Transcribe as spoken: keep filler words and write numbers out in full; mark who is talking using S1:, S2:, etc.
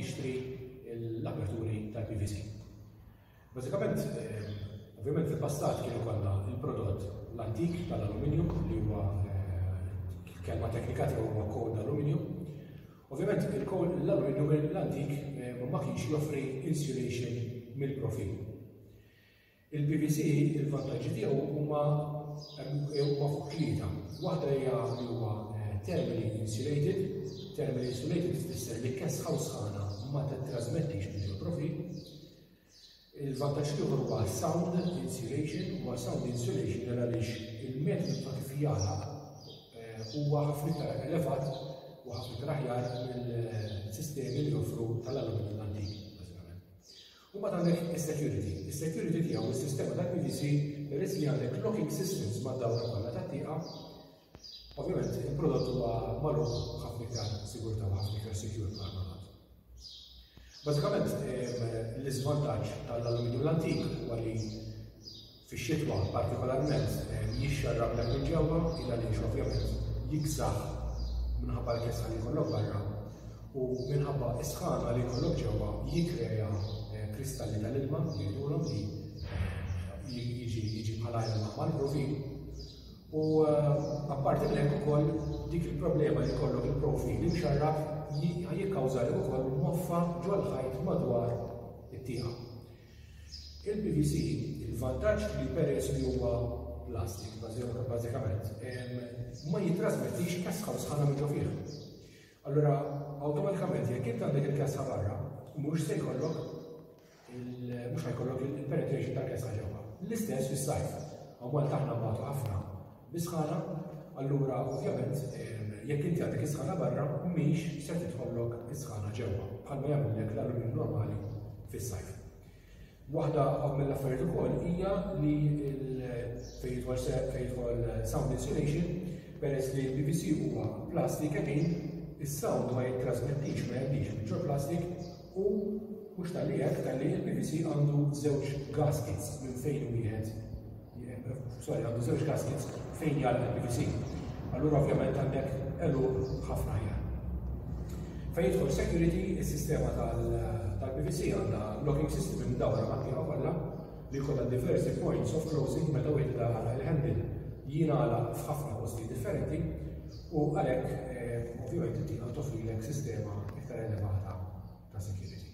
S1: jixtri l-aperturi tal-P V C. Bażikament, eh, ovvjament fil-passat kienu kollha il-prodott l-antik tal-aluminium li huwa eh, kelma teknika tiegħu huwa cold aluminium. Ovvjament il-cold l-aluminium l-antik eh, ma kienx joffri insulation mill-profil. Il-P V C, il-vantaġġi tiegħu huma huma fuq tlieta. Waħda hija li huwa thermally insulated. Thermally insulated tfisser li kesħa u sħana ma titrasmettix minn il-profil. Il-vantaġġ ieħor huwa sound insulation, huwa sound insulation għaliex il-metodu ta' kif jagħlaq eh, huwa ħafna iktar elevat u ħafna iktar aħjar mill-sistemi li joffru tal-aluminium l-antik, bażikament. U mbagħad għandek is-security. Is-security tiegħu, is-sistema tal-P V C, peress li għandek locking systems mad-dawra kollha tat-tieqa, ovvjament il-prodott huwa magħluq ħafna iktar sigurtà u ħafna iktar secure bħala prodott. Bażikament l-iżvantaġġ tal-aluminium l-antik huwa li fix-xitwa partikolarment jixxarrab minn ġewwa, il għaliex ovvjament jiksaħ minħabba l-kesħa li jkollok barra u minħabba is-sħana li jkollok ġewwa jikkrea eh, kristalli tal-ilma, jgħidulhom, li eh, jiġi jiġi bħala ilma mal-profil. U eh, apparti minn hekk ukoll dik il-problema li jkollok il-profil imxarrab jikkawża li wkoll moffa ġol-ħajt madwar it-tieqa. Il-P V C, il-vantaġġ li peress li huwa plastik, bażikament, ma jitrasmettix kesħa u sħana minn ġo fih. Allura, awtomatikament, jekk int għandek il-kesħa barra, mhux se jkollok mhux ħa jkollok il-penetration tal-kesħa ġewwa. L-istess fis-sajf. Hawn Malta aħna nbatu ħafna bis-sħana, allura ovvjament jekk inti għandek is-sħana barra, mhix se tidħollok is-sħana ġewwa, bħalma jagħmellek l-aluminium normali fis-sajf. Waħda mill-affarijiet ukoll hija li fejn jidħol fejn jidħol sound insulation, peress li l-P V C huwa plastik again, is-sound ma jittrasmettix, ma jgħaddix minn plastik, u mhux talli hekk, talli l-P V C għandu żewġ gaskets minn fejn wieħed, sorry, għandu żewġ gaskets fejn jgħalaq il-P V C. Allura ovvjament għandek għeluq ħafna aħjar. Fejn jidħol security, is-sistema tal-P V C għandha locking system imdawra mat-tieqa kollha li jkollha diversi points of closing. Meta wieħed jagħlaq il-handle, jingħalaq f'ħafna posti differenti u għalhekk eh, ovvjament it-tieqa toffrilek sistema iktar elevata ta' security.